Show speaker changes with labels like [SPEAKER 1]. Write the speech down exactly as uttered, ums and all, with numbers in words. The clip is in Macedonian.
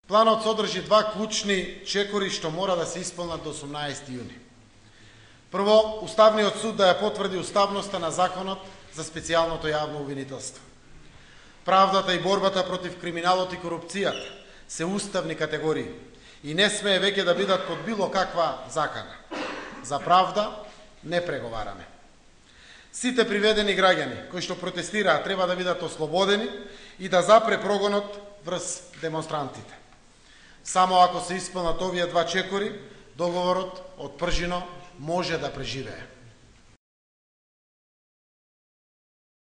[SPEAKER 1] Планот содржи два клучни чекори што мора да се исполнат до осумнаесети јуни. Прво, Уставниот суд да ја потврди уставноста на законот за специјалното јавно обвинителство. Правдата и борбата против криминалот и корупцијата се уставни категории и не смее веќе да бидат под било каква закана. За правда не преговараме. Сите приведени граѓани кои што протестираат треба да бидат ослободени и да запре прогонот врз демонстрантите. Само ако се исполнат овие два чекори, договорот од пржино може да преживее.